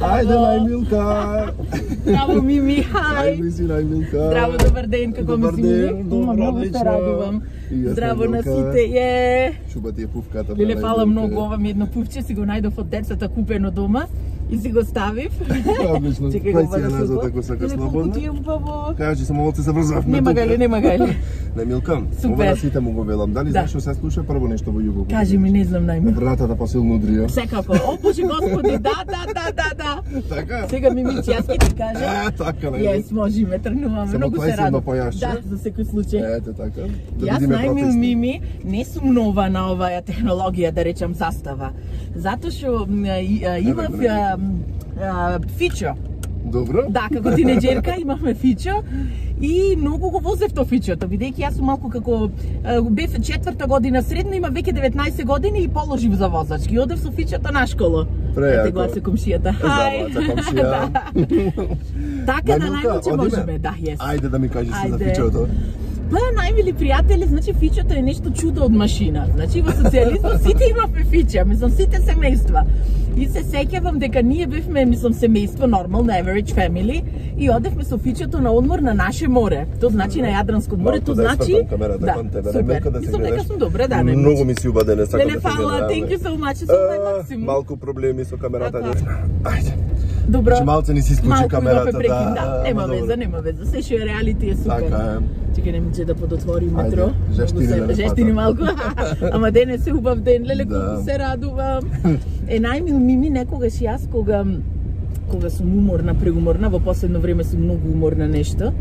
Ајде, најмилка. Здраво, Мими, хај. Ајде си, најмилка. Здраво, добар ден, како ми си, Мими? Много се радувам. Здраво на сите, Шуба ти е пувката. Леле, фала многу, ова ми едно пувче, си го најдов од децата купено дома и си го ставив. Одлично, кај си ја назад ако сакаш слободно. Ти е убаво. Кажи, само малце се врзавме. Нема гајле. Најмилка, ова на сите му го велам. Дали знаеш што се слуша прво нешто во југо? Кажи ми, не знам најме. Вратата посилно удрија. Секако. О, Боже Господи, да. Така? Сега Мимици, јас ќе ти кажам. Така, Јес, можеме, тргнуваме, многу се радувам. Да, за секој случај. Ете така. Јас најмил Мими не сум нова на оваа технологија, да речам застава. Затоа што имав фичо. Добро. Да, како тинеџерка имавме фичо и многу го возев то фичото, бидејќи јас сум малку како бев 4-та година средно, има веќе 19 години и положив за возачки. Одев со фичото на школа. Ете гласа комшијата. Хај. Така да најмилче можеме, да, јес. Ајде да ми кажеш за фичото. Па, најмили пријатели, значи фичото е нешто чудо од машина. Значи во социјализмот сите имавме фича, мислам сите семејства. И се сеќавам дека ние бевме, мислам, семејство, нормално, average family, и одевме со фичото на одмор на наше море. Тоа значи на Јадранско море, тоа значи да, супер. Мислам дека сум добре, да, не. Многу ми си убедена, сакам да се фала, thank you so much, so максимум. Малку проблеми со камерата. Ајде. Добро. Значи малце не си исклучи камерата, да. Нема веза. Се што е реалити е супер. Така е. Чекај, не ми да подотвори метро. Жештини малку. Ама денес е убав ден, леле, колку се радувам. Најмил Мими, некогаш јас кога сум уморна, преуморна, во последно време сум многу уморна нешто,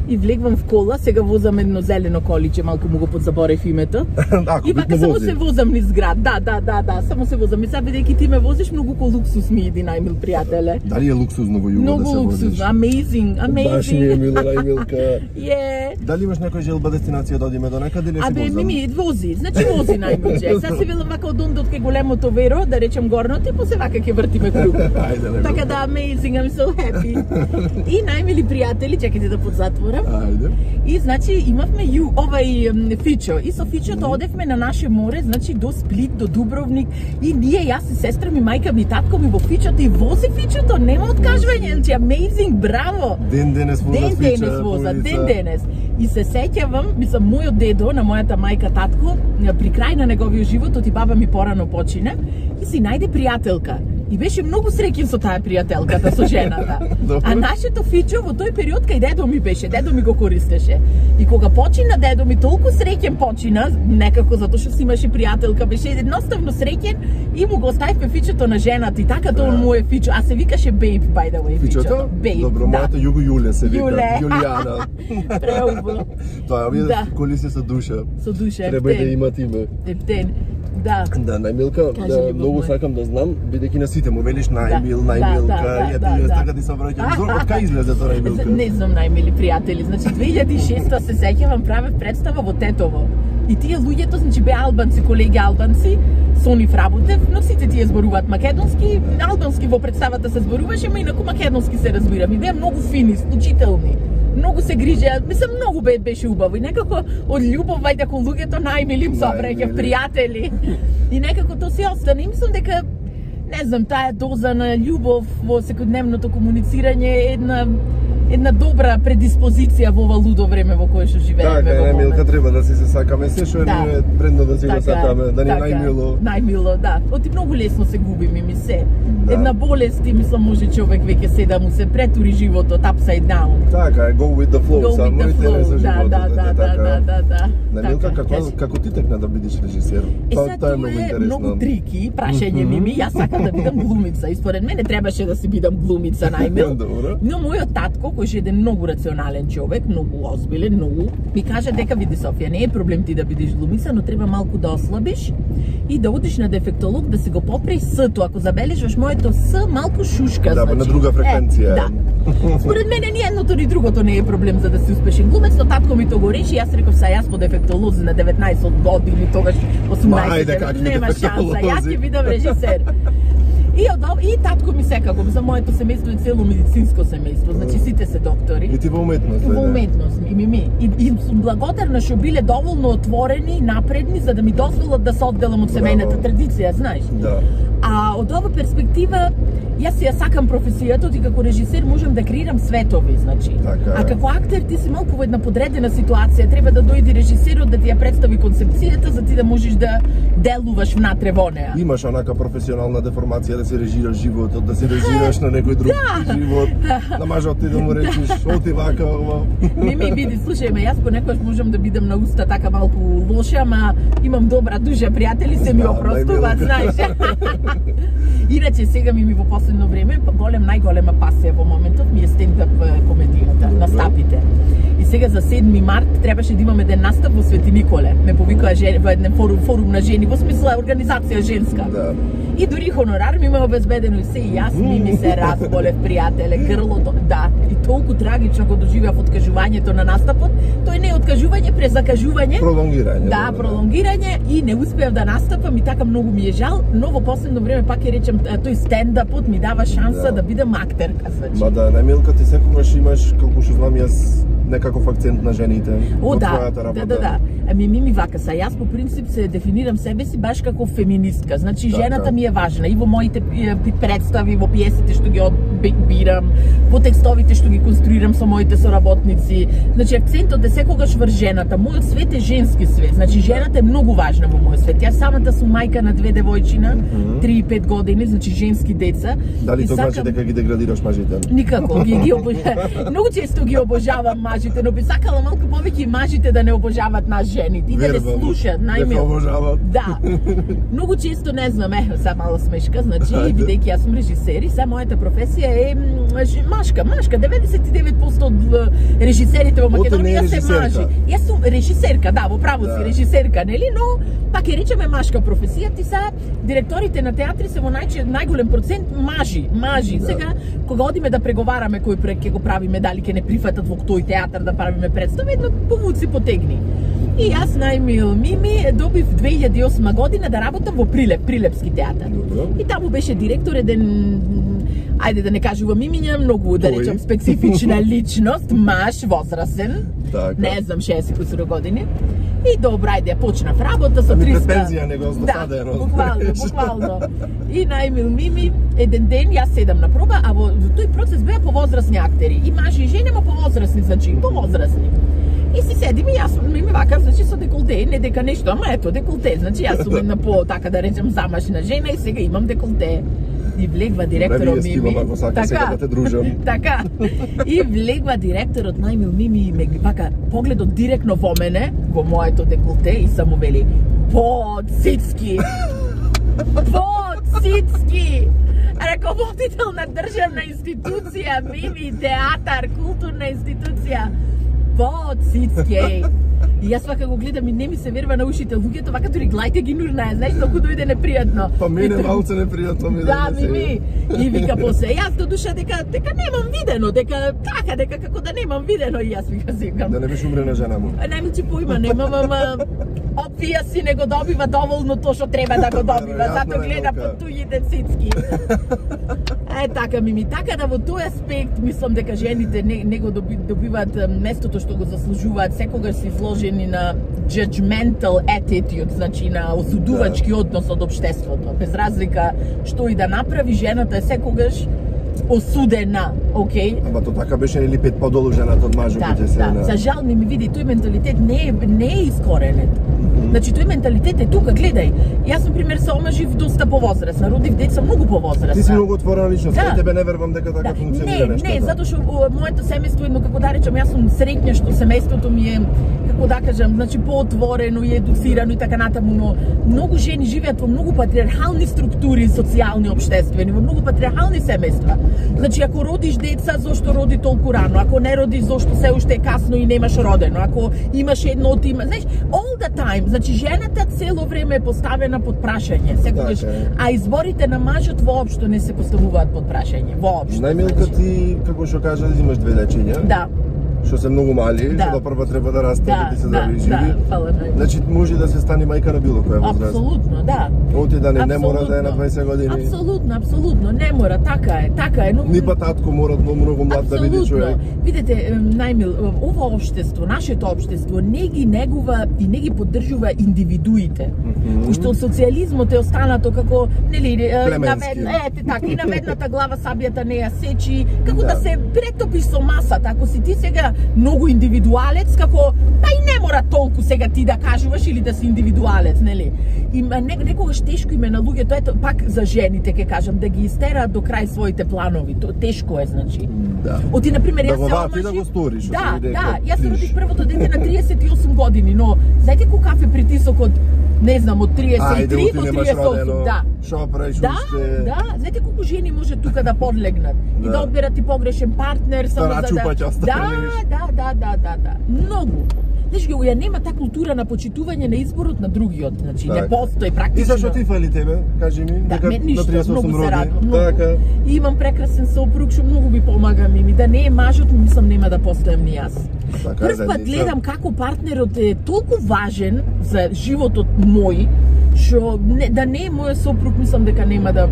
и влегвам в кола, сега возам едно зелено количе, малку му го подзаборев името. И вака само се возам низ град. Да, само се возам. И сега бидејќи ти ме возиш, многу ко луксус ми иди, најмил пријателе. Дали е луксузно во југо да се возиш? Многу луксузно, amazing. Баш ми е мила најмилка. Дали имаш некоја желба дестинација да одиме до некаде или се возам? Мими, вози најмилче. Сега си велам вака од ондот кај големото веро, да речем горното, и после вака ќе вртиме круг. Така да, amazing, I'm so happy. И најмили пријатели, чекайте да подзатворам. Ајде. И значи имавме овај фичо. И со фичото одевме на наше море, значи до Сплит, до Дубровник. И ние, јас и сестра ми, мајка ми, татко ми во фичото и вози фичото, нема откажување, значи amazing, браво. Ден денес воза. И се сеќавам, мислам, мојот дедо, на мојата мајка, татко, при крај на неговиот живот, и баба ми порано почина, и си најде пријателка. И беше многу среќен со таа пријателката, со жената. А нашето фичо во тој период кај дедо ми беше, дедо ми го користеше. И кога почина дедо ми, толку среќен почина, некако затоа што си имаше пријателка, беше едноставно среќен и му го оставивме фичото на жената и така тоа му е фичо, а се викаше Babe, by the way, фичото. Babe. Добро, мојата Југо Јуле се вика, Јулијана. Преубаво. Тоа овие коли се со душа. Со душа, треба да имат име. Ептен. Да, најмилка, многу сакам да знам, бидејќи на сите му велиш најмилка, и така ти се враќам. Од кај излезе тоа најмилка? Не знам, најмили пријатели. Значи 2006 се сеќавам, правев представа во Тетово. И тие луѓето, значи беа албанци, колеги албанци, со нив работев, но сите тие зборуваат македонски, албански во представата се зборуваше, ама инаку македонски се разбирам. И беа многу фини, случителни. Многу се грижеа, мислам, многу беше убаво. И некако од љубов, вајде кон луѓето најмили им собраќа пријатели. И некако тоа се остана. И мислам дека, не знам, таа доза на љубов во секојдневното комуницирање е една добра предиспозиција во ова лудо време во кое што живееме. Така, најмилка, треба да си се сакаме, се што е брендно да си го сакаме, да ни е најмило. Најмило, да. Оти многу лесно се губи, ми се. Една болест, и мислам, може човек веќе се да му се претури животот, upside down. Така, go with the flow, само и тебе со животот. Да. Најмилка, како ти текна да бидеш режисер? Тоа е многу трики, прашање ми, јас сакам да бидам глумица, и според мене требаше да си бидам глумица, најмил. Но мојот татко, кој е еден многу рационален човек, многу озбилен, ми кажа дека види Софија, не е проблем ти да бидеш глумица, но треба малку да ослабиш и да одиш на дефектолог да си го попреи С-то. Ако забележиш моето С малку шушка, значи. Да, на друга фреквенција. Да. Според мене ни едното ни другото не е проблем за да си успешен глумец, но татко ми то го реши, јас реков са јас по дефектолози на 19 години, тогаш 18, нема шанса, јас ќе бидам режисер. И татко ми секако, за моето семејство е цело медицинско семејство, значи сите се доктори. И ти во уметност, во уметност, и сум благодарна што биле доволно отворени и напредни за да ми дозволат да се одделам од семејната традиција, знаеш. Да. А А од ова перспектива, јас ја сакам професијата и како режисер можам да креирам светови, значи. Така. А како актер ти си малку во една подредена ситуација, треба да дојде режисерот да ти ја представи концепцијата за ти да можеш да делуваш внатре во неа. Имаш онака професионална деформација да се режираш животот, да се режираш на некој друг живот, на мажот ти да му речеш, оти вака, ова. Ми види, слушај ме, јас понекогаш можам да бидам на уста така малку лоша, ама имам добра дужа пријатели, се ми опростуваат, знаеш. Иначе сега ми во последно време најголема пасија во моментот ми е стендап комедијата, настапите. И сега за 7 март требаше да имаме ден настап во Свети Николе. Ме повикаа во еден форум на жени, во смисла организација женска. Да. И дури хонорар ми има обезбедено и се и јас ми се разболев, пријателе, грлото, да. И толку трагично го доживеав откажувањето на настапот. Тој не е откажување, презакажување. Пролонгирање. Да, пролонгирање и не успеав да настапам и така многу ми е жал, но во последно време пак ќе речем тој стендапот ми дава шанса да бидам актерка, значи. Ма да, најмилка ти секогаш имаш, колку што знам јас, некаков акцент на жените во твојата работа. Да. Ми вака са, јас по принцип се дефинирам себе си баш како феминистка. Значи жената ми е важна и во моите представи, во пиесите што ги одбирам, во текстовите што ги конструирам со моите соработници. Значи акцентот е секогаш врз жената. Мојот свет е женски свет. Значи жената е многу важна во мојот свет. Јас самата сум мајка на 2 девојчина, 3 и 5 години, значи женски деца. Дали тоа значи дека ги деградираш мажите? Никако, ги обожавам. Многу често ги обожавам мажите, но би сакала малку повеќе мажите да не обожават нас жените и да не слушаат, најмило. Да. Многу често не знам, сега мала смешка, значи бидејќи јас сум режисер и сега мојата професија е машка. 99% од режисерите во Македонија се мажи. Јас сум режисерка, да, во право си режисерка, нели, но пак ќе речеме машка професија. Ти са директорите на театри се во најголем процент мажи. Сега кога одиме да преговараме кој проект ќе го правиме, дали ќе не прифатат во тој театар да правиме представа, едно повуци потегни. И јас најмил Мими добив 2008 година да работам во Прилепски театар. И таму беше директор еден, ајде да не кажувам имиња, многу да речам специфична личност, маж, возрасен, не знам 60 кусуро години. И добра, ајде, почнав работа со 300. Пензија не го оставено. Да, буквално. И најмил Мими, еден ден јас седам на проба, а во тој процес беа повозрасни актери. И мажи и жени, ама повозрасни, значи повозрасни. И си седим и јас ми вака, значи со деколте, не дека нешто, ама ето деколте, значи јас сум една по, така да речем, замашна жена и сега имам деколте. И влегва директорот Мими. Така. И влегва директорот најмил Мими и ме вака погледот директно во мене, во моето деколте и само вели: "По-цицки." По-цицки. Раководител на државна институција, Мими, театар, културна институција. По-цицки. И јас вака го гледам и не ми се верва на ушите. Луѓето вака дури глајте ги нурнае, знаеш, толку дојде непријатно. Па мене малце непријатно ми да, Мими. И вика после, јас до душа дека немам видено, дека како да немам видено и јас вика викам. Да не беше умрена жена му. Најмилчи поима немам, ама опија си не го добива доволно тоа што треба да го добива, затоа гледа под туѓите цицки. Така Мими, така да во тој аспект мислам дека жените не го добиваат местото што го заслужуваат, секогаш се изложени на judgmental attitude, значи на осудувачки однос од општеството. Без разлика што и да направи, жената е секогаш осудена, окей? Ама тоа така беше нели 5 подолу жената од мажот се. Да, за жал ми види тој менталитет не е искоренет. Значи тој менталитет е тука, гледај. Јас на пример се омажив доста повозрасна, родив деца многу повозрасна. Ти си многу отворена личност, тебе не верувам дека така функционира нештата. Не, затоа што моето семејство едно како да речам, јас сум среќна што семејството ми е како да кажам, значи поотворено и едуцирано и така натаму, но многу жени живеат во многу патриархални структури социјални, општествени, во многу патриархални семејства. Значи ако родиш деца, зошто роди толку рано? Ако не родиш, зошто се уште е касно и немаш родено? Ако имаш едно знаеш, all the time, значи жената цело време е поставена под прашање, секогаш, а изборите на мажот воопшто не се поставуваат под прашање, воопшто. Најмилка ти, како што кажа, имаш 2 дечиња. Да. што се многу мали, што прво треба да расте, да ти се здрави и живи. Значи може да се стане мајка на било која возраст. Апсолутно, да. Оти да не мора да е на 20 години. Апсолутно, не мора, така е. Ни па татко мора многу млад да биде човек. Видете, најмил, ова општество, нашето општество не ги негува и не ги поддржува индивидуите. Уште од социјализмот е останато како, нели, наведната глава сабијата не ја сечи, како да се претопиш со масата. Ако си ти сега многу индивидуалец, како и не мора толку сега ти да кажуваш или да си индивидуалец, нели? И некогаш тешко име на луѓето, ето пак за жените ќе кажам, да ги истераат до крај своите планови. Тешко е, значи. Да. Оти на пример јас се омажив. Да го сториш. Да, јас се родих првото дете на 38 години, но знаете каков е притисокот, не знам, од 33 до 38, да. Шо правиш уште? Да, знаете колку жени може тука да подлегнат и да одберат и погрешен партнер само за да. Многу. Знаеш ги, ја нема таа култура на почитување на изборот на другиот, значи не постои практично. И зашто ти фали тебе? Кажи ми, дека на 38 се радувам. Така. И имам прекрасен сопруг што многу ми помага ми, да не е мажот, мислам нема да постојам ни јас. Прв пат гледам како партнерот е толку важен за животот мој, што да не е мојот сопруг, мислам дека нема да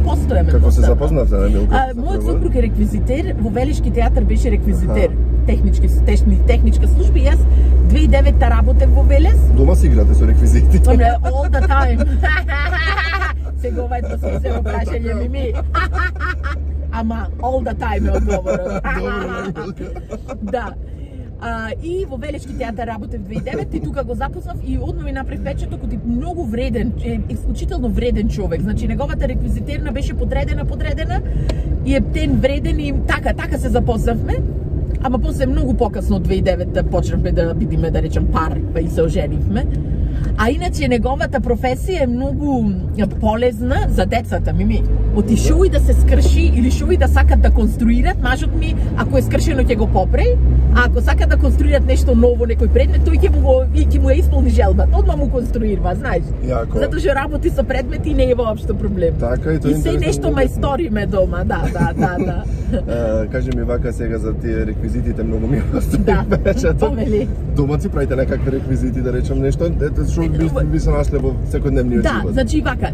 постоеме. Како се запознавте, Милка? Мојот сопруг е реквизитер, во Велешки театар беше реквизитер. Техничка служба. Јас 2009-та работев во Велес. Дома си играте со реквизити? All the time. Сега ова е смислено прашање ми. Ама all the time е одговорот. Да. И во Велешки театар работев 2009 и тука го запознав и одма ми направи впечаток од многу вреден, исклучително вреден човек. Значи неговата реквизитерна беше подредена и е тен вреден и така се запознавме. Ама после многу покасно од 2009 почнавме да бидиме, да речем, пар, па и се оженивме. А иначе неговата професија е многу полезна за децата ми. Оти шо и да се скрши или шо и да сакат да конструират, мажот ми, ако е скршено ќе го попре, а ако сакат да конструират нешто ново, некој предмет, тој ќе му ја исполни желбата, одма му конструира, знаеш. Затоа што работи со предмети и не е воопшто проблем. Така, и се нешто мајсториме дома, да. Кажи ми вака сега за тие реквизитите, многу ми помели. Дома си правите некакви реквизити, да речем нешто, што би се нашле во секојдневниот живот. Да, значи вака,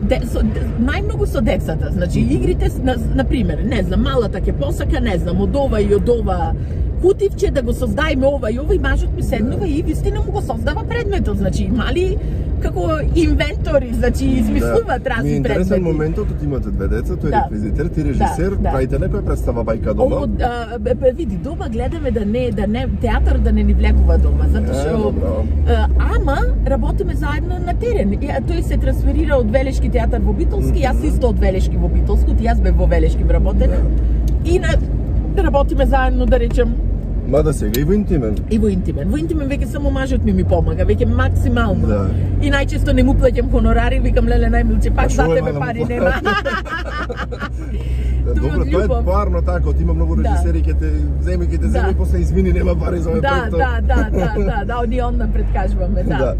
најмногу со децата, значи игрите, на пример, не знам, малата ќе посака, не знам, од ова и од ова кутивче да го создајме ова и мажот ми седнува и вистина му го создава предметот, значи мали како инвентори, значи измислуваат разни предмети. Ми е интересен моментот, имате две деца, тој е реквизитер, ти режисер, правите некоја представа бајка дома? Види, дома гледаме да не театар да не ни влегува дома, затоа што ама работиме заедно на терен. Тој се трансферира од Велешки театар во Битолски, јас исто од Велешки во Битолско, јас бев во Велешки вработена. И работиме заедно, да речем. Мада сега и во интимен. Во интимен веќе само мажот ми помага, веќе максимално. Да. И најчесто не му плаќам хонорари, викам леле најмилче, пак за тебе пари нема. Добро, тоа е парно така, има многу режисери ќе те земи и после извини нема пари за овој проект. Да, они онда предкажуваме, да.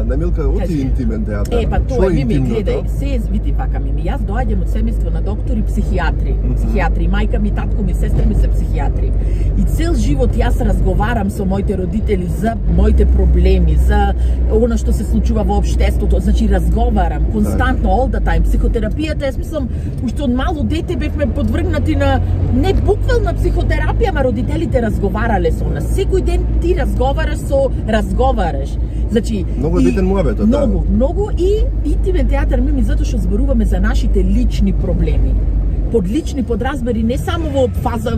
На Милка, оти интимен театар. Па тоа ми гледај, се види вака ми. Јас доаѓам од семејство на доктори психијатри. Мајка ми, татко ми, сестра ми се психијатри. И цел живот јас разговарам со моите родители за моите проблеми, за она што се случува во општеството, значи разговарам константно, all the time. Психотерапијата, јас мислам, уште од мало дете бевме подвргнати на не буквална психотерапија, ама родителите разговарале со нас. Секој ден ти разговараш. Значи, многу е битен муабетот, да. Многу и интимен театар ми затоа што зборуваме за нашите лични проблеми. Под лични подразбери не само во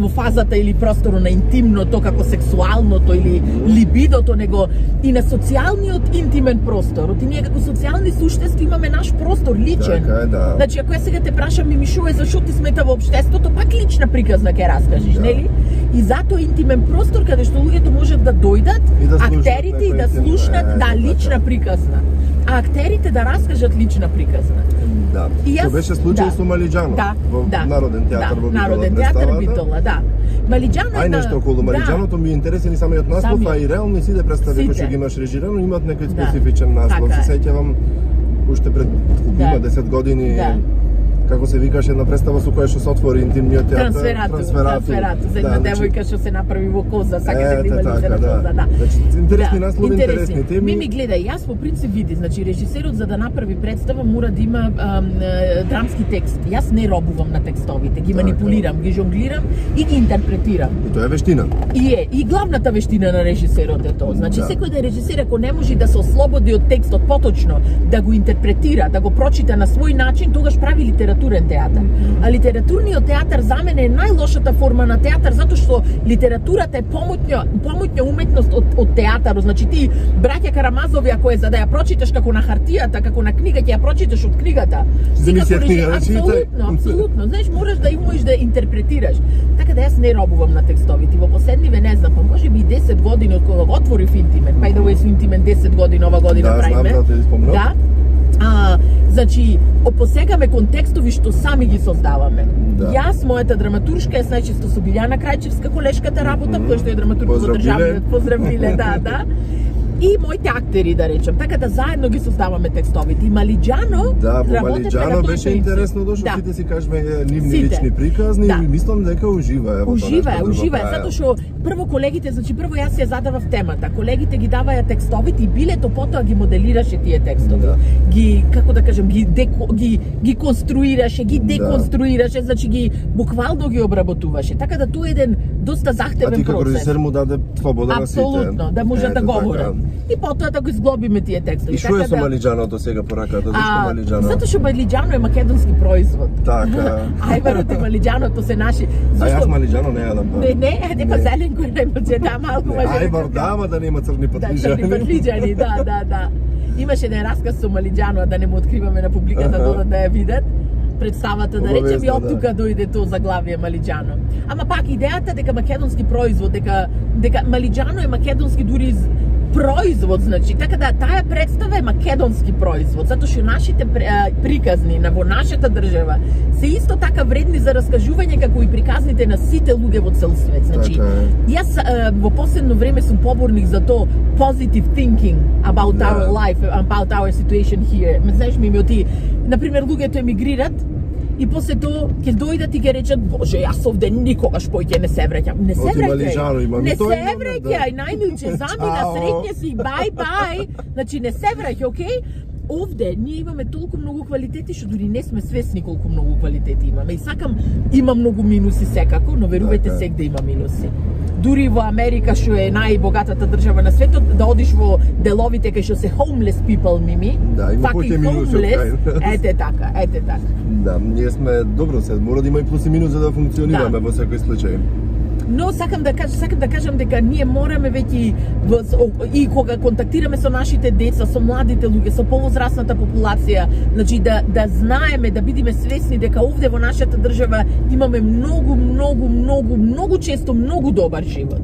фазата или просторо на интимното како сексуалното или либидото, него и на социјалниот интимен простор. Оти ние како социјални суштества имаме наш простор личен. Така е, да. Значи ако ја сега те прашам ми шо е зашо ти смета во општеството, пак лична приказна ќе раскажеш, нели? И затоа интимен простор каде што луѓето можат да дојдат, актерите и да слушнат, лична приказна. А актерите да раскажат лична приказна. Да. Што беше случај со Малиџано во Народен театар во Битола. Народен театар Битола, да. Малиџано Ај нешто околу Малиџаното ми е интересен и самиот наслов, а и реално сите представи кои што ги имаш режирано имаат некој специфичен наслов. Се сеќавам уште пред 10 години како се викаше една представа со која што се отвори интимниот театар, Трансферато, за една девојка што се направи во коза, сака да има лице на коза, да. Значи интересни наслови, интересни теми. Мими, гледај, јас по принцип види, значи режисерот за да направи представа мора да има драмски текст. Јас не робувам на текстовите, ги манипулирам, ги жонглирам и ги интерпретирам. И тоа е вештина. И главната вештина на режисерот е тоа. Значи секој да режисер ако не може да се ослободи од текстот поточно, да го интерпретира, да го прочита на свој начин, тогаш прави литературен театар. А литературниот театар за мене е најлошата форма на театар затоа што литературата е помоќна уметност од театарот. Значи ти браќа Карамазови ако е за да ја прочиташ како на хартијата, како на книга, ќе ја прочиташ од книгата. Апсолутно. Знаеш, можеш да умееш да интерпретираш. Така да јас не робувам на текстовите. Во последниве не знам, па може би 10 години од кога отворив Интимен. Па и да го со Интимен 10 години ова година правиме. Да. Значи, посегаме контекстови што сами ги создаваме. Јас, мојата драматуршка е најчесто со Билјана Крајчевска, колешката работа, која што е драматург во државниот, поздравиле, да. И моите актери, да речем, така да заедно ги создаваме текстовите. И Малиџано Малиџано беше интересно дошо, сите си кажеме нивни лични приказни и мислам дека уживаа. Уживаа, затоа што прво колегите, значи прво јас ја задавав темата, колегите ги даваја текстовите и билето потоа ги моделираше тие текстови. Ги, како да кажем, ги конструираше, ги деконструираше, значи ги буквално ги обработуваше. Така да тоа е еден доста захтевен процес. А ти како режисер му даде слобода на сите. Апсолутно, да можат да говорат. И потоа да го изглобиме тие текстови. И што е со Малиџаното сега пораката? Зашто Малиџано? Затоа што Малиџано е македонски производ. Така. Ајварот и Малиџаното се наши. А јас Малиџано не јадам. Не, па зелен кој не да малку може. Ајвар дама да нема црни патлиџани. Да, црни патлиџани, да. Имаше еден расказ со Малиџано, да не му откриваме на публиката додат да ја видат. Представата, да речем, и од тука дојде тоа заглавие Малиџано. Ама пак идејата дека македонски производ, дека Малиџано е македонски дури производ, значи, така да таа представа е македонски производ, затоа што нашите приказни во нашата држава се исто така вредни за раскажување како и приказните на сите луѓе во цел свет. Значи, јас во последно време сум поборник за тоа positive thinking about our life, about our situation here. Знаеш, ми оти, например, луѓето емигрират и после тоа ќе дојдат и ќе речат: "Боже, јас овде никогаш поќе не се враќам." Не се враќај. Не се враќај, најмилче, замина, среќне си, бај. Значи не се враќај, окей? Овде ние имаме толку многу квалитети што дури не сме свесни колку многу квалитети имаме. И сакам, има многу минуси секако, но верувајте сегде има минуси. Дури во Америка, што е најбогатата држава на светот, да одиш во деловите кај што се homeless people, Мими, има поќе минуси. Ете така. Да, ние сме добро се, мора да има и плюс и минус за да функционираме во секој случај. Но сакам да кажам дека ние мораме веќе и кога контактираме со нашите деца, со младите луѓе, со повозрасната популација, значи да знаеме, да бидеме свесни дека овде во нашата држава имаме многу често многу добар живот.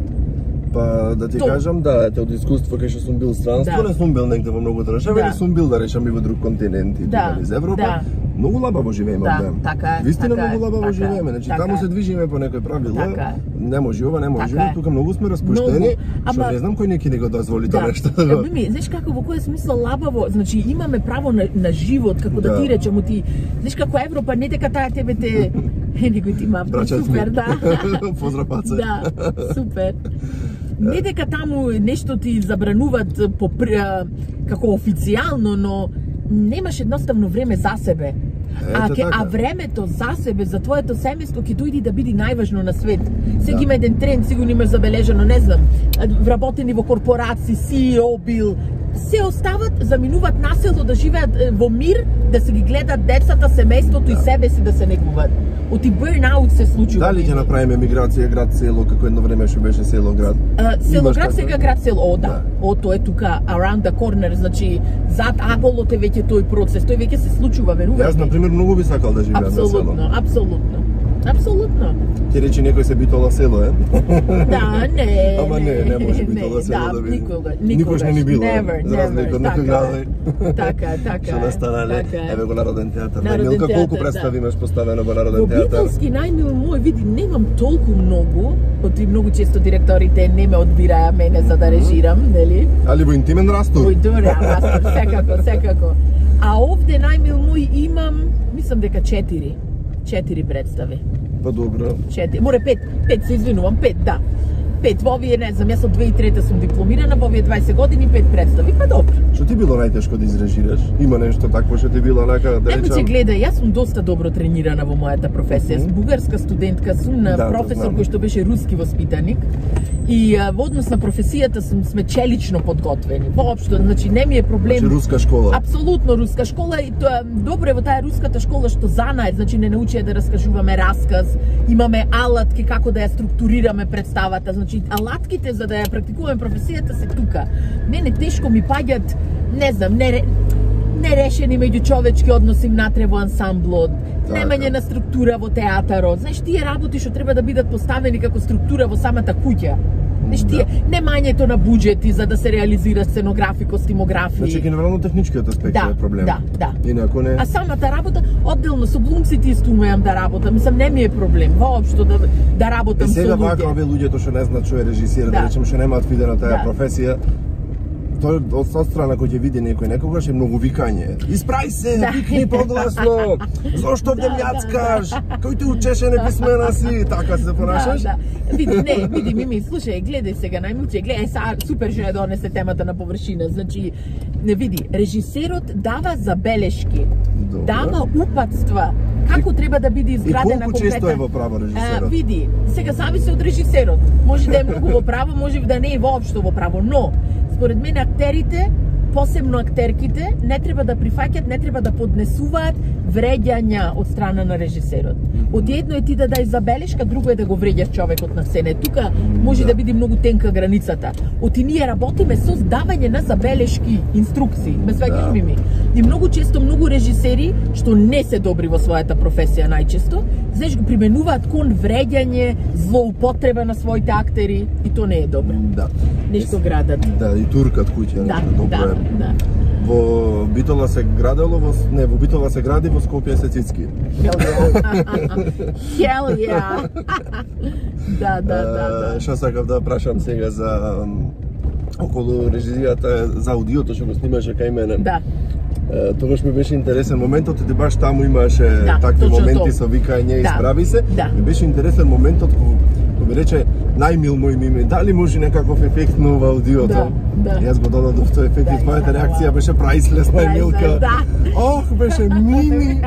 Па да ти кажам, ете од искуство кај што сум бил странство, не сум бил негде во многу држави, или сум бил да речам и во друг континент и из Европа. Многу лабаво живееме овде. Вистина многу лабаво живееме. Значи таму се движиме по некој правила. Не може ова, не може ова, тука многу сме распуштени, што не знам кој неки не го дозволи тоа нешто. Мими, знаеш како, во која смисла лабаво, значи имаме право на живот, како да ти речеме, знаеш како Европа не дека таа тебе те некој ти мам, супер, да. Поздрав паце. Да, супер. Не дека таму нешто ти забрануваат како официјално, но немаш едноставно време за себе. А времето за себе, за твоето семејство ќе дојде да биде најважно на свет. Сега има еден тренд, сигурно имаш забележано, не знам, вработени во корпорации, CEO бил, се остават, заминуваат на село да живеат во мир, да се ги гледат децата, семејството и себе си да се негуваат. Оти бурнаут се случува. Дали ќе направиме миграција град-село, како едно време што беше село-град? Село-град сега град-село, да. Тоа е тука, around the corner, значи, зад аголот е веќе тој процес, тој веќе се случува, верувате. Јас, например, многу би сакал да живеам на село. Апсолутно. Ќе речи некој се битола село, е? Да, не. Ама не може битола село да биде. Никогаш не ни било. За разлика од некој градови. Така. Што настанале, еве го Народен театар. Милка, колку представи имаш поставено во Народен театар? Во битолски најмил мој, види, немам толку многу, оти многу често директорите не ме одбираја мене за да режирам, нели? Али во интимен растур? Во интимен растур, секако. А овде најмил мој имам, мислам дека 4 представи. Па добро. 4, море 5 се извинувам, 5, да. 5, во овие, не знам, јас од 2003 сум дипломирана, во овие 20 години 5 представи, па добро. Што ти било најтешко да изрежираш? Има нешто такво што ти било онака да речам? Немојте гледај, јас сум доста добро тренирана во мојата професија. Бугарска студентка сум на професор кој што беше руски воспитаник и во однос на професијата сме челично подготвени. Воопшто, значи не ми е проблем. Значи руска школа. Апсолутно руска школа и тоа добро е во таа руската школа што знае, значи не научија да раскажуваме расказ, имаме алатки како да ја структурираме представата, значи алатките за да ја практикуваме професијата се тука. Мене тешко ми паѓат, не знам, нерешени меѓучовечки односи внатре во ансамблот, немање на структура во театарот. Знаеш, тие работи што треба да бидат поставени како структура во самата куќа. Знаеш, тие немањето на буџети за да се реализира сценографи, костимографи. Значи, генерално техничкиот аспект е проблем. Да. Инаку не. А самата работа, одделно со глумците исто умеам да работам. Мислам, не ми е проблем воопшто да работам со луѓе. Сега вака овие луѓето што не знаат што е режисер, да речем што немаат видена таа професија, тоа од страна кој ќе види некој некогаш е многу викање. Испрај се, викни погласно. Зошто овде мјацкаш? Кој те учеше неписмена си? Така се понашаш? Види, Мими, слушај, гледај сега, најмуче, гледај, супер што ја донесе темата на површина. Значи, види, режисерот дава забелешки, дава упатства, како треба да биде изградена конкретна. И колку често е во право режисерот? Види, сега зависи од режисерот. Може да е многу во право, може да не е воопшто во право, но според мене актерите, посебно актерките, не треба да прифаќат, не треба да поднесуваат вреѓања од страна на режисерот. Од едно е ти да дај забелешка, друго е да го вреѓаш човекот на сцена. Тука може да биде многу тенка границата. Оти ние работиме со давање на забелешки, инструкции. Ме сваќаш ми? И многу често многу режисери што не се добри во својата професија најчесто, знаеш, го применуваат кон вреѓање, злоупотреба на своите актери и то не е добро. Да. Нешто градат. Да, и туркат куќа, добро е. Да. Во Битола се градело, во Битола се гради, во Скопје се цицки. Hell yeah. Да. Што сакав да прашам сега за околу режисијата за аудиото што го снимаше кај мене. Да. Тогаш ми беше интересен моментот и баш таму имаше такви моменти со викање и справи се. Ми беше интересен моментот кога ми рече најмил мој Мими, дали може некаков ефект на ова аудиото? Јас го додадов тој ефект и твојата реакција беше прајслес, најмилка. Ох, беше Мими,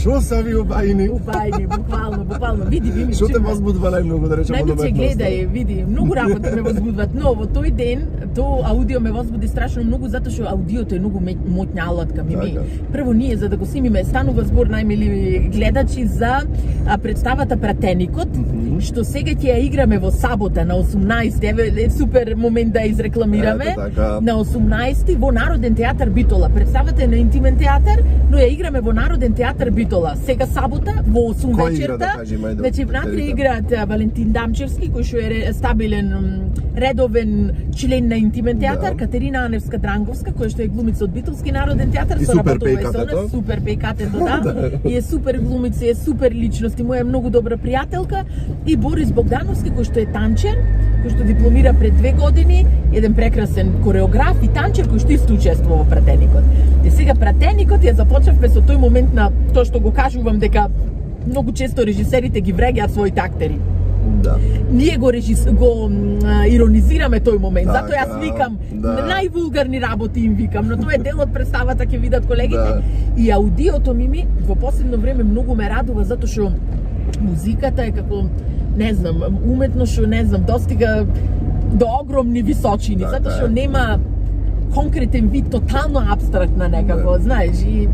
шо са ви убајни? Убајни, буквално, види Мими. Шо те возбудува најмногу да речем од уметноста? Гледај, види, многу работи ме возбудват, но во тој ден, аудио ме возбуди страшно многу, затоа што аудиото е многу моќна алатка, Мими. Прво ние, за да го снимиме, станува збор, најмили гледачи, за представата Пратеникот, што сега ќе ја играме во сабота на 18, е супер момент да изрекламираме. На 18 во Народен театар Битола. Представата е на Интимен театар, но ја играме во Народен театар Битола. Сега сабота во 8 вечерта. Значи внатре играат Валентин Дамчевски, кој што е стабилен редовен член на Интимен театар, Катерина Аневска Дранговска, која што е глумица од Битолски Народен театар, со работува и со нас, супер пејкатето, да. И е супер глумица, е супер личност, и моја многу добра пријателка, и Борис Богдановски, кој што е танчер, кој што дипломира пред 2 години, еден прекрасен кореограф и танчер кој што исто учествува во Пратеникот. И сега Пратеникот ја започнавме со тој момент на тоа што го кажувам дека многу често режисерите ги вреѓаат своите актери. Да. Ние го иронизираме тој момент. Затоа јас викам највулгарни работи им викам, но тоа е дел од представата, ќе видат колегите. И аудиото Мими во последно време многу ме радува затоа што музиката е како, не знам, уметно што, не знам, достига до огромни височини, затоа што нема конкретен вид, тотално апстрактна некако, знаеш, и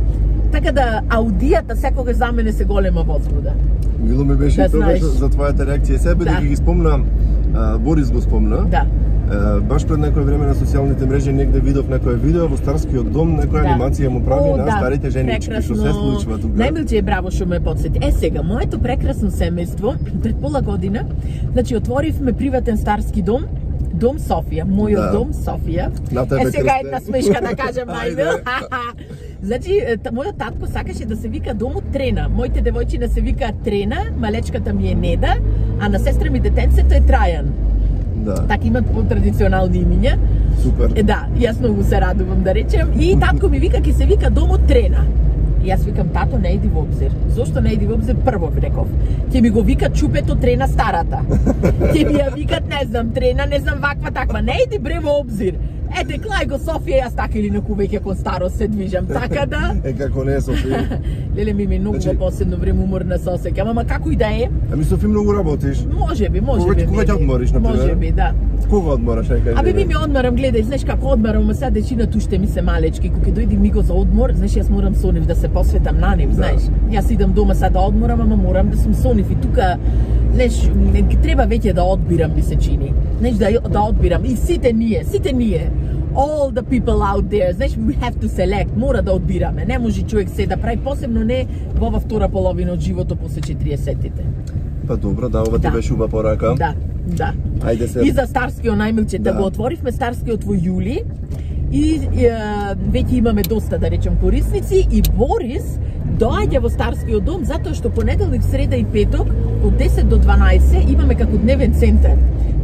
така да аудијата секогаш за мене се голема возбуда. Мило ми беше тоа за твојата реакција себе, дека ги спомна, Борис го спомна. Да. Баш пред некој време на социјалните мрежи негде видов некој видео во Старскиот дом, некоја анимација му прави на старите женички, што се случува тука. Најмилче е браво што ме потсети. Сега, моето прекрасно семејство, пред пола година, значи отворивме приватен старски дом, Дом Софија, мојот дом Софија. Сега една смешка да кажам најмил. Значи, мојот татко сакаше да се вика домот Трена. Моите девојчиња се викаат Трена, малечката ми е Неда, а на сестра ми детенцето е Трајан. Така имат по-традиционални имиња. Супер. Да, јас многу се радувам да речем. И татко ми вика, ќе се вика домот Трена. Јас викам, тато, не иди во обзир. Зошто не иди во обзир? Прво реков. Ќе ми го викат Чупето Трена старата. Ќе ми ја викат, не знам, Трена, не знам, ваква таква. Не иди бре во обзир. Ете, клај го Софија, јас така или наку веќе кон старост се движам, така да... Како не е Софија? Леле, ми многу во последно време уморна се осеќам, ама како и да е. Ами Софија многу работиш. Може би. Кога ќе одмориш, например? Може би, да. Кога одмораш, кажи? Ми одморам, гледај, знаеш како одморам, ама сега дечината уште ми се малечки, кога ќе дојде миго за одмор, знаеш, јас морам со нив да се посветам на нив, знаеш. Јас идам дома сега да одморам, ама морам да сум со нив и тука, знаеш, треба веќе да одбирам, ми се чини. Знаеш, да одбирам и сите ние. All the people out there, знаеш, we have to select, мора да одбираме, не може човек се да прави, посебно не во ова втора половина од животот после 40-тите. Па добро, да, ова ти беше уба порака. Да. Ајде се. И за Старскиот најмилче, да го отворивме Старскиот во јули и веќе имаме доста, да речем, корисници и Борис доаѓа во Старскиот дом затоа што понеделник, среда и петок од 10 до 12 имаме како дневен центар.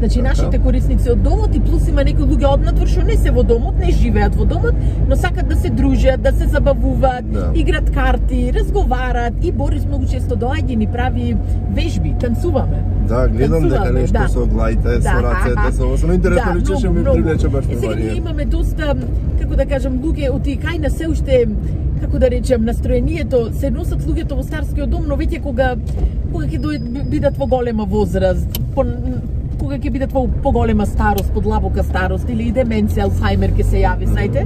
Значи, нашите корисници од домот и плюс има некои луѓе однатвор што не се во домот, не живеат во домот, но сакат да се дружат, да се забавуваат, играт карти, разговарат и Борис многу често доаѓа и ни прави вежби, танцуваме. Да, гледам дека нешто со глајте, со рацете, со интересно личеше ми привлече баш тоа. Сега имаме доста, како да кажам, луѓе од кај на се уште, како да речем, настроението, се носат луѓето во Старскиот дом, но веќе кога ќе бидат во голема возраст, кога ќе бидат во поголема старост, подлабока старост или и деменција, Алцхаймер ќе се јави, знаете.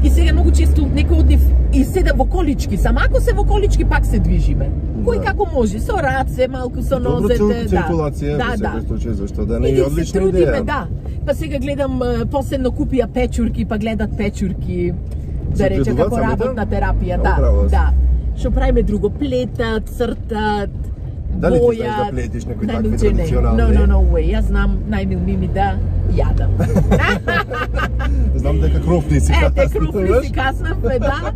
И сега многу често некој од нив и седа во колички, само ако се во колички пак се движиме. Кој како може, со раце, малку со нозете, добро циркулација, во секој случај, зашто да не е одлична идеја. Да. Па сега гледам, последно купија печурки, па гледат печурки, да рече, како работна терапија, да. Што правиме друго, плетат, цртат, дали ти знаеш да плетиш некои такви традиционални? No way, јас знам најмилми ми да јадам. Знам дека крофни си каснав. Крофни си каснавме, да.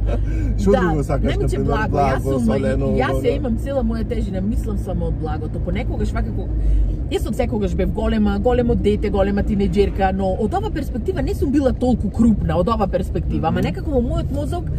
Што друго сакаш, например, благо, солено? Јас ја имам цела моја тежина, мислам само од благото. Понекогаш вакако јас од секогаш бев големо дете, голема тинеџерка, но од ова перспектива не сум била толку крупна, од ова перспектива, ама некако во мојот мозок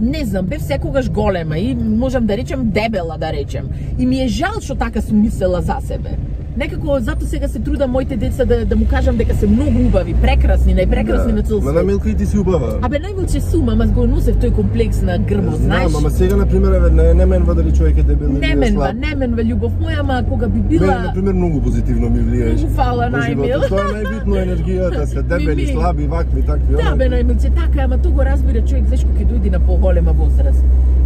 не знам, бев секогаш голема и можам да речем дебела, да речем. И ми е жал што така сум мислела за себе. Некако зато сега се трудам моите деца да му кажам дека се многу убави, прекрасни, најпрекрасни на цел свет. Ма на Милка и ти си убава. Абе најмилче сум, ама го носев тој комплекс на грбот, знаеш. Знам, ама сега на пример не менва дали човек е дебел или слаб. Не менва љубов моја, ама кога би била. Мене на пример многу позитивно ми влиеш. Многу фала најмил. Тоа е најбитно, енергијата, се дебели, слаби, вакви, такви. Да, бе најмилче, така, ама тоа го разбира човек зашто ќе дојде на поголема возраст.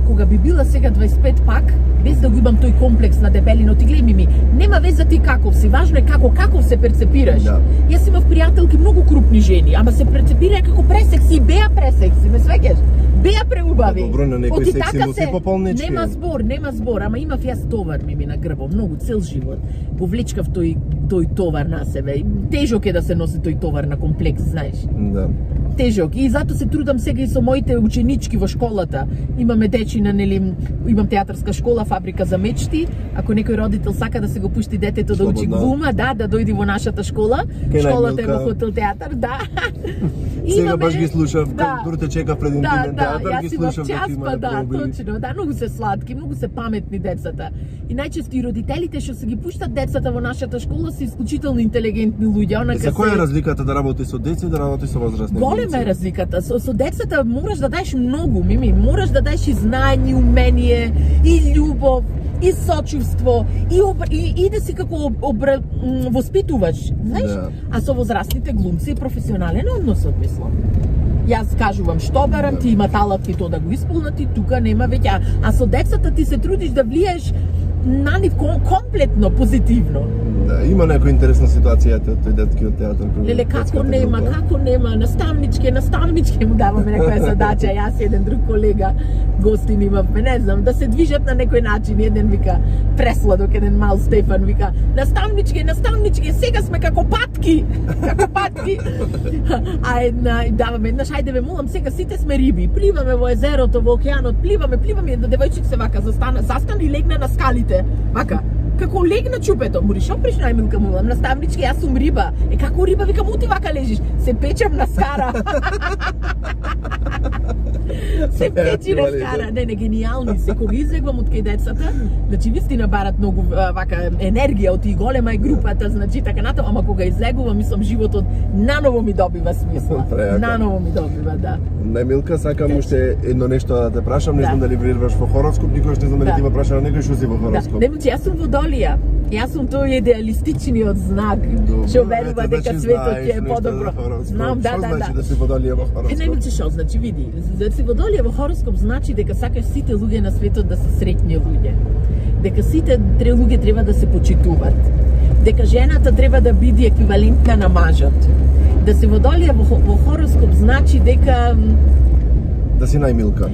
Кога би била сега 25 пак, без да го имам тој комплекс на дебелино, ти гледај ми, нема веза ти каков си, важно е каков се перцепираш. Да. Јас имав пријателки многу крупни жени, ама се перцепира како пресекси, беа пресекси, ме свеќаш? Беа преубави. Добро, на некој секси носи пополнички. Нема збор, ама имав јас товар ми на грбот, многу цел живот. Го влечкав тој товар на себе. Тежок е да се носи тој товар на комплекс, знаеш. Да. Тежок. И затоа се трудам сега и со моите ученички во школата. Имаме дечина, нели, имам театарска школа, фабрика за мечти. Ако некој родител сака да се го пушти детето да учи глума, да дојди во нашата школа. Школата е во хотел театар, да. Сега баш ги слушав, дури те чека пред интимен театар, ги слушав дека има точно, да, многу се сладки, многу се паметни децата. И најчесто и родителите што се ги пуштат децата во нашата школа се исклучително интелигентни луѓе. За која е разликата да работи со деца и да работи со возрастни? Голема е разликата. Со децата мораш да даеш многу, Мими, мораш да даеш и знање, умение, и љубов, и сочувство, и да си како воспитуваш, знаеш? Да. А со возрастните глумци и професионален односот, мислам. Јас кажувам што барам, ти има талант и тоа да го исполнат и тука нема веќе. А со децата ти се трудиш да влиеш на нив комплетно позитивно. Да, има некоја интересна ситуација тој детскиот театар. Леле, како нема, наставничке му даваме некоја задача, јас и еден друг колега, гостин имавме, не знам, да се движат на некој начин, еден вика, пресладок, еден мал Стефан вика, наставничке, сега сме како патки, а даваме еднаш, ајде ве молам, сега сите сме риби, пливаме во езерото, во океанот, пливаме, една девојчица се вака, застана и легна на скалите, вака, Како лег на чупето. Мори шо приш Најмилка му, наставнички, јас сум риба. Како риба, викам, ути вака лежиш. Се печам на скара. Се печи на скара. Не, гениални се. Кога излегвам од кај децата, значи вистина барат многу вака енергија од и голема е групата, значи така натаму, ама кога излегувам, мислам животот наново ми добива смисла. Наново ми добива, да. Најмилка, сакам уште едно нешто да те прашам, не знам дали веруваш во хороскоп, никогаш не знам дали ти ме прашала некој што си во хороскоп. Не, јас сум Водолија. Јас сум тој идеалистичниот знак, што верува дека светот ќе е подобро. Знам, да. Што значи да си Водолија во хороскоп? Не милче што значи, види, да си Водолија во хороскоп значи дека сакаш сите луѓе на светот да се среќни луѓе. Дека сите луѓе треба да се почитуваат. Дека жената треба да биде еквивалентна на мажот. Да си Водолија во хороскоп значи дека да си Најмилка.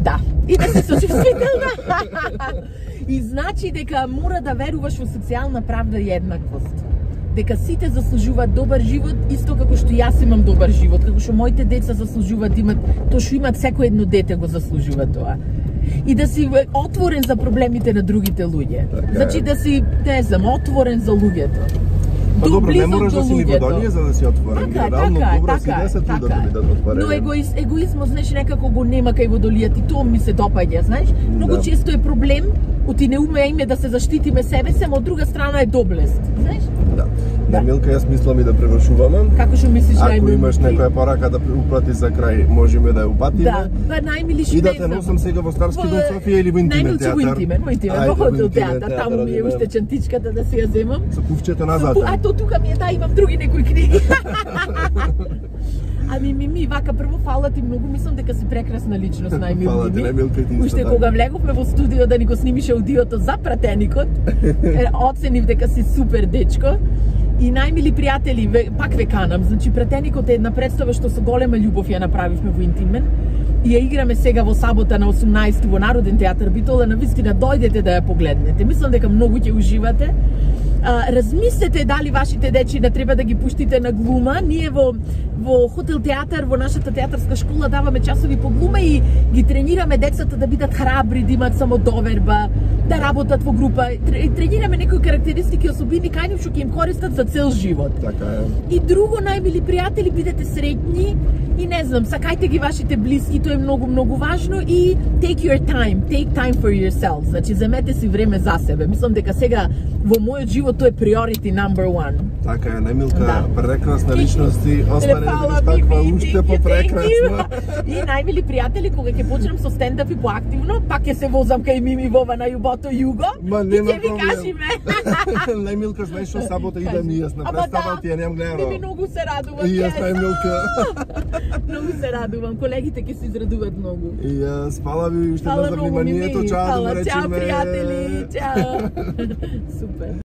Да, и да се сочувствителна. И значи дека мора да веруваш во социјална правда и еднаквост. Дека сите заслужуваат добар живот, исто како што јас имам добар живот, како што моите деца заслужуваат да имат, тоа што имат секој едно дете го заслужува тоа. И да си отворен за проблемите на другите луѓе. Значи да си, не знам, отворен за луѓето. Па добро, не можеш да си ни Водолија за да си отворен. Генерално добро си 10 луѓе да бидат отворени. Но егоизмот, знаеш, некако го нема кај Водолијата и тоа ми се допаѓа, знаеш. Многу често е проблем, оти не умееме да се заштитиме себе се, но од друга страна е доблест, знаеш? Да. Најмилка, јас мислам и да превршуваме. Како што мислиш, Најмилка? Ако имаш некоја порака да уплати за крај, можеме да ја упатиме. Да, најмили што и да те носам сега во Старски дом Софија или во Интимен театар. Најмилче во Интимен, во хотел театар, таму ми е уште чантичката да си ја земам. Со куфчето назад. А то тука ми е, да, имам други некои книги. Ами вака прво фала ти многу, мислам дека си прекрасна личност, Најмилка. Фала ти, Најмилка, ти уште кога влеговме во студио да ни го снимише аудиото за пратеникот, оценив дека си супер дечко. И најмили пријатели, пак ве канам, значи пратеникот е една представа што со голема љубов ја направивме во Интимен. И ја играме сега во сабота на 18 во Народен театар Битола, навистина дојдете да ја погледнете. Мислам дека многу ќе уживате. Размислете дали вашите дечи да треба да ги пуштите на глума. Ние во хотел театар, во нашата театарска школа даваме часови по глума и ги тренираме децата да бидат храбри, да имаат самодоверба, да работат во група. Тренираме некои карактеристики, особини кај нив што ќе им користат за цел живот. Така е. И друго, најмили пријатели, бидете среќни и не знам, сакајте ги вашите блиски, тоа е многу важно и take your time, take time for yourself. Значи земете си време за себе. Мислам дека сега во мојот живот тоа е priority number one. Така е, Најмилка, прекрасна личност и остане да таква уште попрекрасна. И најмили пријатели, кога ќе почнам со стендап и поактивно, пак ќе се возам кај Мими Вова на јубото Југо и ќе ви кажиме. Најмилка, знаеш што сабота идам и јас на представа, ти ја немам гледано. Мими многу се радувам. И јас, Најмилка. Многу се радувам, колегите ќе се израдуваат многу. И јас, фала ви уште за вниманието, чао да речеме. Чао пријатели, чао. Супер.